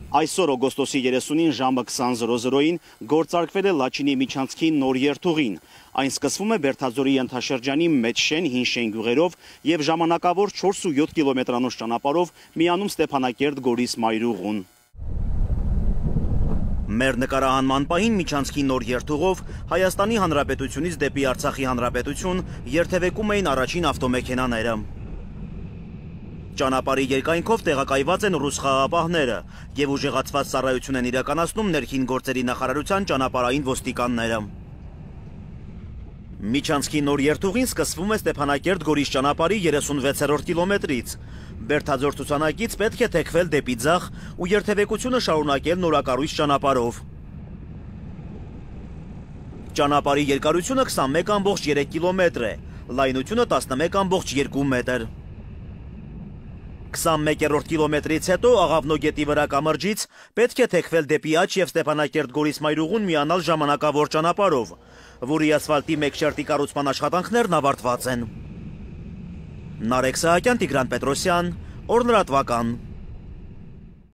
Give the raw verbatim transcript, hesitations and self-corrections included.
Այսօր օգոստոսի երեսունին ժամը քսան զրո զրոյին գործարկվել է Լաչինի միջանցքի նոր երթուղին։ Այն սկսվում է Բերդաձորի ենթաշրջանի Մեծշեն հին շեն գյուղերով եւ ժամանակավոր չորս ու յոթ կիլոմետրանոց ճանապարհով միանում Ստեփանակերտ Գորիս մայրուղուն։ Մեր նկարահանման պահին միջանցքի նոր երթուղով Հայաստանի Հանրապետությունից դեպի Արցախի Հանրապետություն երթևեկում էին առաջին ավտոմեքենաները։ Ճանապարհի երկայնքով տեղակայված են ռուս խաղաղապահները եւ ուժեղացված ծառայություն են իրականացնում ներքին գործերի նախարարության ճանապարհային ոստիկանները։ Միջանցքի նոր երթուղին սկսվում է Ստեփանակերտ Գորիս ճանապարհի երեսունվեցերորդ կիլոմետրից։ Բերդաձոր ցուցանակից պետք է թեքվել դեպի ձախ ու երթևեկությունը շարունակել նորակառույց ճանապարհով։ Ճանապարհի երկարությունը քսանմեկ ամբողջ երեք կիլոմետր է, լայնությունը տասնմեկ ամբողջ երկու մետր։ քսանմեկերորդ կիլոմետրից հետո Աղավնո գետի վրա կամրջից պետք է թեքվել դեպի Աջ եւ Ստեփանակերտ Գորիս մայրուղուն միանալ ժամանակավոր ճանապարհով, որի ասֆալտի մեկ շերտի կառուցման աշխատանքներն ավարտված են։ Նարեկ Սահակյան, Տիգրան Պետրոսյան, օրհնրատվական։